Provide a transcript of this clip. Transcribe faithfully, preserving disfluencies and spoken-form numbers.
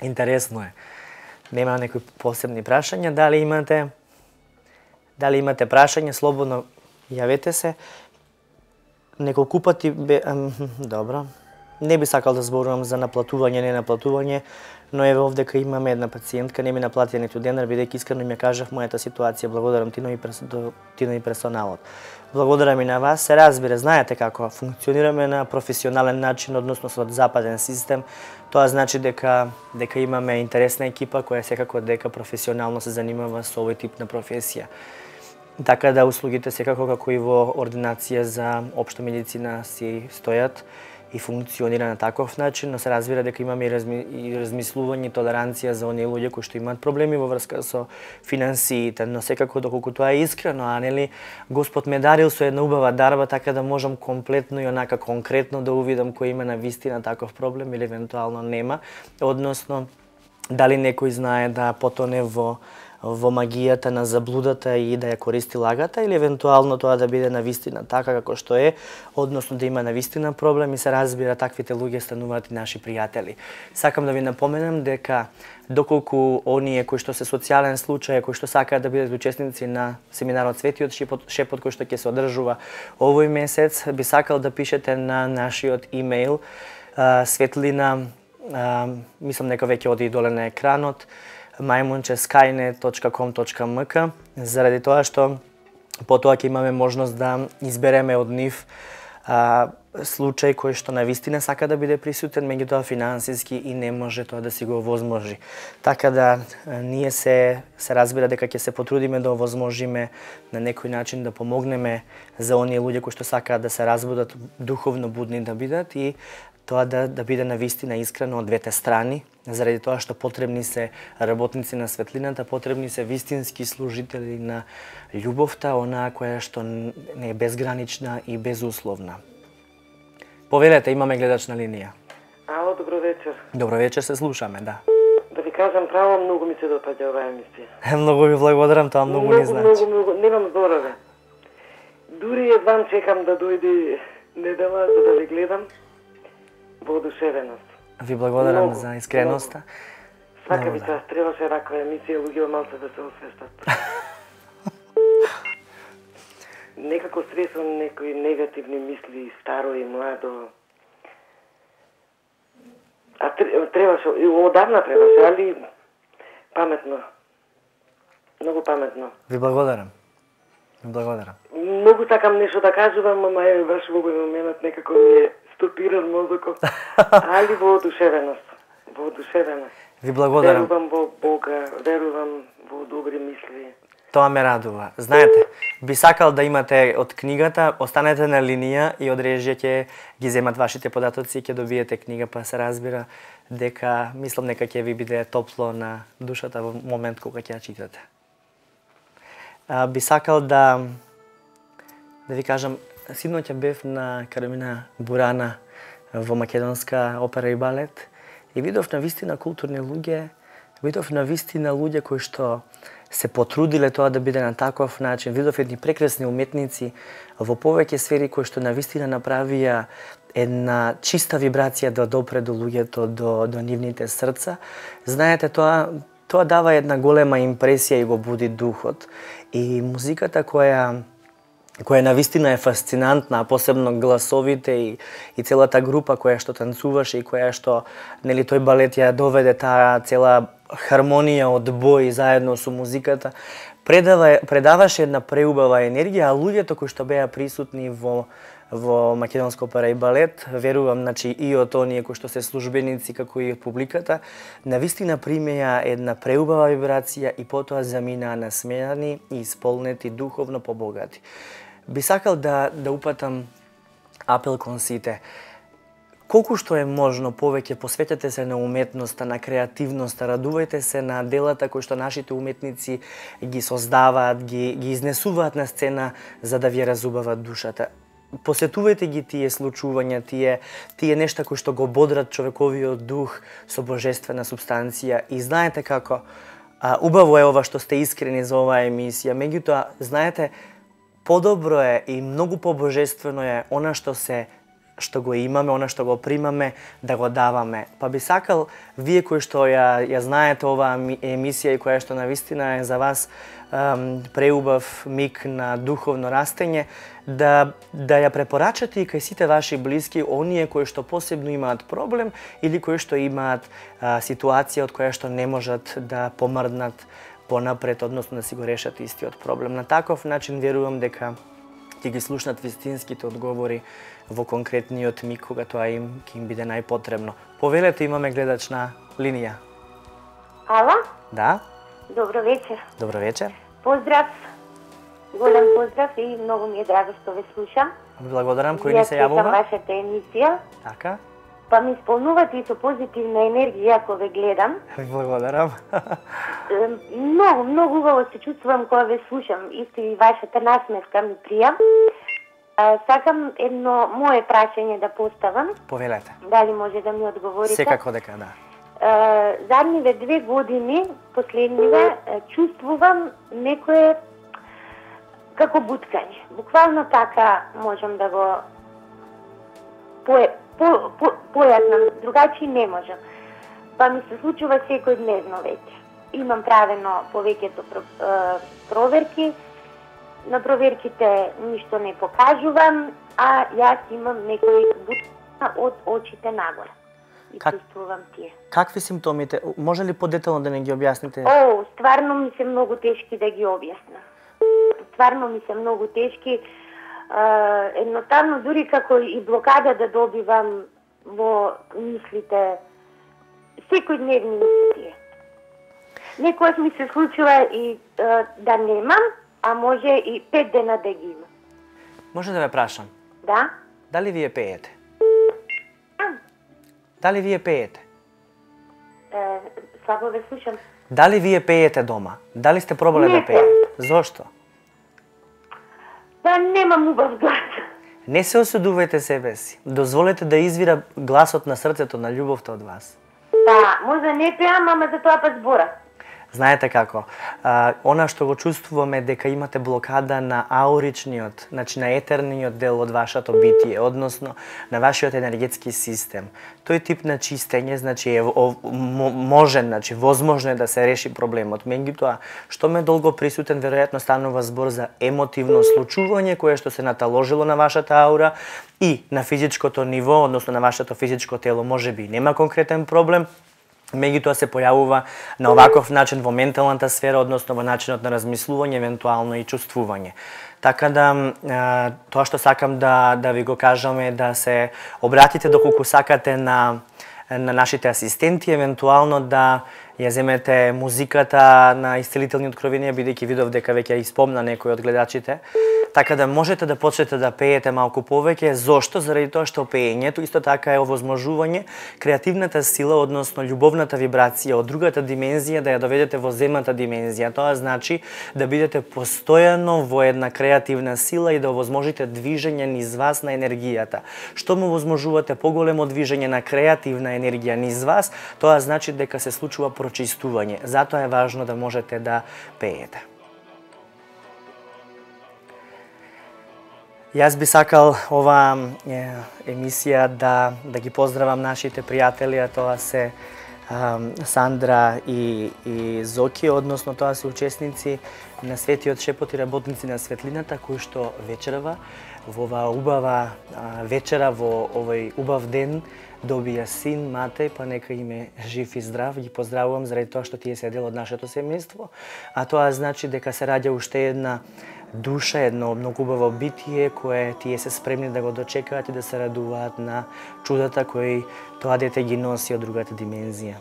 Интересно е. Нема некои посебни прашања, дали имате дали имате прашање, слободно јавете се. Неколку пати бе, ам, добро. Не би сакал да зборувам за наплатување, не наплатување, но еве овдека имаме една пациентка, не ми наплати ниту денар, бидејќи искрено ми ја кажав мојата ситуација. Благодарам Тино и Тино и персоналот. Благодарам и на вас. Се разбира, знаете како функционираме на професионален начин, односно со западен систем. Тоа значи дека дека имаме интересна екипа која секако дека професионално се занимава со овој тип на професија. Така да услугите секако како и во ординација за општа медицина си стојат и функционира на таков начин, но се разбира дека имаме и, разми, и размислување и толеранција за оние луѓе кои што имаат проблеми во врска со финансиите, но секако доколку тоа е искрено, а нели Господ ме дарил со една убава дарба, така да можам комплетно и онака конкретно да увидам кој има навистина таков проблем или евентуално нема, односно дали некој знае да потоне во во магијата на заблудата и да ја користи лагата, или евентуално тоа да биде навистина така како што е, односно да има навистина проблем и се разбира таквите луѓе стануваат и наши пријатели. Сакам да ви напоменам дека доколку оние кои што се социјален случај, кои што сакаат да бидат учесници на семинарот Светиот шепот, шепот кој што ќе се одржува овој месец, би сакал да пишете на нашиот имејл светлина, а, мислам дека веќе оди доле на екранот, мајмунче скајнет точка ком точка ем ка, заради тоа што потоа ќе имаме можност да избереме од нив а, случај кој што навистина сака да биде присутен, меѓутоа финансиски и не може тоа да си го овозможи. Така да ние се се разбира дека ќе се потрудиме да овозможиме на некој начин да помогнеме за оние луѓе кои што сакаат да се разбудат, духовно будни да бидат и тоа да, да биде навистина искрено од двете страни, заради тоа што потребни се работници на светлината, потребни се вистински служители на љубовта, онаа која што не е безгранична и безусловна. Повелете, имаме гледач на линија. Ало, добро вечер. Добро вечер, се слушаме, да. Да ви кажам право, многу ми се допаѓа оваа емисија. Многу ви благодарам, тоа многу, многу ни значи. Многу, многу, немам зборове. Дури едвам чекам да дојде недела за да ви гледам. Воодушевеност. Ви благодарам много, за искреноста. Сака ви таа, требаше раква емисија, луѓе малце да се освестат. Некако стресувам некои негативни мисли, старо и младо. А требаше, и одавна требаше, али паметно. Многу паметно. Ви благодарам. Ви благодарам. Многу сакам нешто да кажувам, ама е баш во овој момент некако ми е стопиран мозокот, али воодушевеност. Воодушевеност. Ви благодарам. Верувам во Бога, верувам во добри мисли. Тоа ме радува. Знаете, би сакал да имате од книгата, останете на линија и од режија ќе ги земат вашите податоци и ќе добиете книга, па се разбира дека, мислам дека ќе ви биде топло на душата во момент кога ќе ја читате. А, би сакал да да ви кажам, синоќа бев на Кармина Бурана во македонска опера и балет и видов на вистина културни луѓе, видов на вистина луѓе кои што се потрудиле тоа да биде на таков начин, видов едни прекрасни уметници во повеќе сфери кои што на вистина направија една чиста вибрација да допре до луѓето, до, до нивните срца. Знаете, тоа тоа дава една голема импресија и го буди духот. И музиката која која навистина е фасцинантна, посебно гласовите и, и целата група која што танцуваше и која што нели тој балет ја доведе таа цела хармонија од бој заедно со музиката, предава, предаваше една преубава енергија, а луѓето кои што беа присутни во во македонска опера и балет, верувам, значи и од оние кои што се службеници како и од публиката, навистина примеја една преубава вибрација и потоа заминаа насмејани и исполнети духовно побогати. Би сакал да да упатам апел кон сите. Колку што е можно повеќе посветете се на уметноста, на креативноста, радувајте се на делата кои што нашите уметници ги создаваат, ги ги изнесуваат на сцена за да ви разубават душата. Посетувајте ги тие случувања, тие тие нешта кои што го бодрат човековиот дух со божествена субстанција и знаете како а, убаво е ова што сте искрени за оваа емисија, меѓутоа знаете подобро е и многу побожествено е она што се што го имаме, она што го примаме, да го даваме. Па би сакал, вие кои што ја, ја знаете оваа емисија и која што навистина е за вас ем, преубав миг на духовно растење, да, да ја препорачате и кај сите ваши блиски, оние кои што посебно имаат проблем или кои што имаат а, ситуација од која што не можат да помрднат понапред, односно да си го решат истиот проблем. На таков начин верувам дека ќе ги слушнат вистинските одговори во конкретниот миг кога тоа им ќе им биде најпотребно. Повелете, имаме гледач на линија. Ало? Да? Добро вечер. Добро вечер. Поздрав. Голем поздрав и многу ми е драго што ве слушам. Благодарам, кој ни се јавува? Ја вашата емисија. Така? Па ми исполнувате и со позитивна енергија ако ве гледам. Благодарам. Многу, многу убаво се чувствувам кога ве слушам. Исто и вашата насмевка ми прија. Сакам едно мое прашање да поставам. Повелете. Дали може да ми одговорите? Секако дека да. Задниве две години, последниве, чувствувам некое како буткање. Буквално така можам да го по, по, по, појаснам, другачи не можам. Па ми се случува секојдневно веќе. Имам правено повеќето проверки, на проверките ништо не покажувам, а јас имам некој буткања од очите нагоре. И Как... чувствувам тие. Какви симптомите? Може ли подетално да не ги објасните? О, стварно ми се многу тешки да ги објаснам. Стварно ми се многу тешки. Uh, едноставно, дури како и блокада да добивам во мислите, секојдневни мисли тие. Некојаш ми се случува и uh, да немам, а може и пет дена да ги имам. Може да ве прашам? Да? Дали вие пеете? Дали вие пеете? Uh, слабо ве слушам. Дали вие пеете дома? Дали сте пробале Не да пеете? Зошто? Па немам убав глас. Не се осудувајте себе си. Дозволете да извира гласот на срцето, на љубовта од вас. Па, може не пеам, ама за тоа па збора. Знаете како, а, она што го чувствуваме дека имате блокада на ауричниот, значи на етерниот дел од вашето битие, односно на вашиот енергетски систем. Тој тип на чистење, значи е може, значи возможно е да се реши проблемот. Меѓутоа, што ме долго присутен, веројатно станува збор за емотивно случување кое што се наталожило на вашата аура и на физичкото ниво, односно на вашето физичко тело, можеби нема конкретен проблем, меѓутоа се појавува на оваков начин во менталната сфера, односно во начинот на размислување, евентуално и чувствување. Така да, тоа што сакам да, да ви го кажам е да се обратите доколку сакате на, на нашите асистенти, евентуално да ја земете музиката на Исцелителни откровенија, бидејќи видов дека веќе ја испомна некој од гледачите. Така да можете да почнете да пеете малку повеќе. Зошто? Заради тоа што пеењето исто така е овозможување креативната сила, односно љубовната вибрација од другата димензија да ја доведете во земната димензија. Тоа значи да бидете постојано во една креативна сила и да овозможите движење низ вас на енергијата. Што му овозможувате поголемо движење на креативна енергија низ вас, тоа значи дека се случува прочистување. Затоа е важно да можете да пеете. Јас би сакал оваа е, емисија да, да ги поздравам нашите пријатели, а тоа се um, Сандра и, и Зоки, односно тоа се учесници на Светиот шепот и работници на светлината, кои што вечерва во оваа убава а, вечера, во овој убав ден, добија син, Матеј, па нека им е жив и здрав. Ги поздравувам заради тоа што тие се дел од нашето семејство, а тоа значи дека се раѓа уште една душа, едно многу убаво битие кое тие се спремни да го дочекаат и да се радуваат на чудата кои тоа дете ги носи од другата димензија.